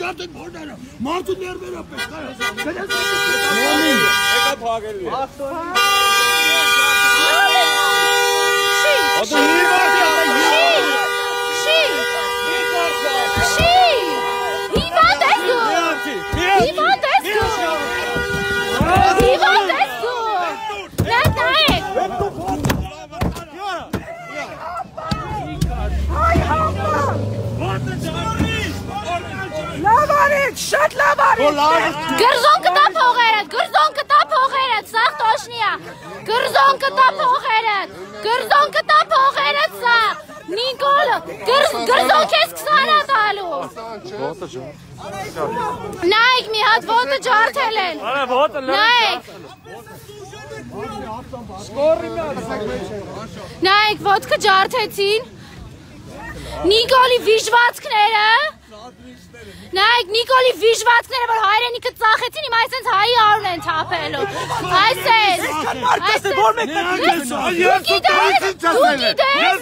ջարդեք որները, մարդու ներվերը պես, եկա փակելու է։ Շատ լավ արի։ Գրզոն կտա փողերդ, գրզոն կտա փողերդ, սաղ տոշնիա։ Գրզոն կտա փողերդ, գրզոն կտա փողերդ սաղ։ Նիկոլը, գրզոն քեզ 20 տալու։ Նայք մի հատ ոտը ջարդել են։ Նայք։ Նայք ոտքը ջարդեցին։ Նիկոլի վիժվածքները։ Նայք Նիկոլի վիժվածքները, որ հայրենիքը ծախեցին, հիմա այսենց հայի արուն են թափելու։ Այսենց։ Որ մեկ Դու գիտես։